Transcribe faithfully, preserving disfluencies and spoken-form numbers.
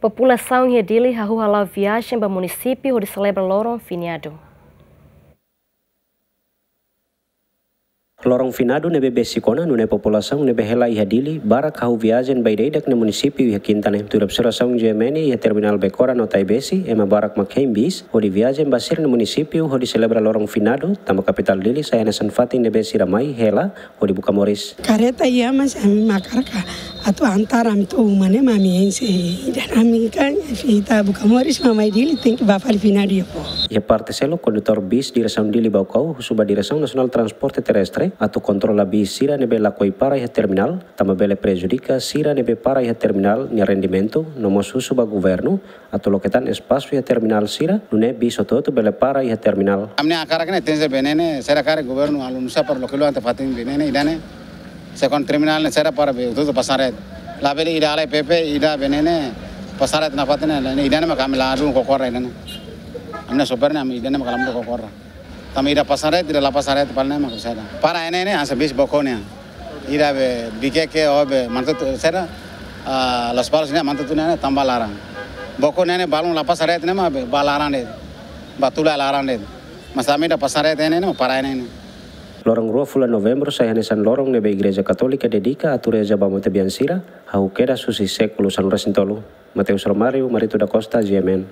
Populasaun iha Dili hahú hala'o viajen ba munisípiu hodi selebra loron finadu. Loron finadu ne'ebé besik ona, nune'e populasaun ne'ebé hela iha Dili barak hahú viajen ba ida-idak nia munisípiu iha kinta ne'e. Tuir observasaun G M N iha terminál Becora no Taibesi, ema barak mak hein bis hodi viajen ba sira-nia munisípiu hodi selebra loron finadu, tanba kapitál Dili sai hanesan fatin ne'ebé sira mai hela hodi buka moris. Kareta iha, mas ami mak hakarak atu antar ami to'o uma ne'e, mas ami hein sei ida-ne'e, ami kan ita buka moris, mak mai Dili tenke bá fali finadu iha pó. Iha parte seluk, kondutór bis diresaun Dili Baucau husu ba Diresaun Nasionál Transporte Terrestre atu kontrola bis sira ne'ebé lakohi para iha terminál, tanba bele prejudika sira ne'ebé para iha terminál nia rendimentu, no mós husu ba governu atu loke tan espasu iha terminál sira, nune'e bis hotu-hotu bele para iha terminál. Ami-nia hakarak ne'e tenke ser be ne'e ne'e, sira karik governu halo nusá para loke luan atu fatin be ne'e ne'e, ida-ne'e. Sei kon terminál ne'e sira para be hotu-hotu pasan rate. Labele ida halai Pepe, ida be ne'e ne'e, pasan rate nafatin ne'e, ida-ne'e mak ami la dun kokorra ida-ne'e. Ami-nia sopir ne'e ami ida-ne'e mak la dun kokorra. Tanba ida pasan rate, ida la pasan rate, pala ne'e mak saida. Para ne'e ne'e, hanesan bis Baucau ne'e. Ida be Viqueque, ou be Manatuto, saida, ah, Lospalos ne'e, Manatuto ne'e, tanba laran. Baucau ne'e ne'e, balun la pasan rate ne'e mak be, bá laran de'it. Bá tula laran de'it. Mas ami ida pasan rate ne'e ne'e, para ne'e ne'e. Loron rua fulan Novembru sai hanesan loron ne'ebé Igreja Katólika dedika atu reza ba matebian sira, hahú kedas husi sékulu sanulu-resin-tolu. Mateus Romário, Marito da Costa, G M N.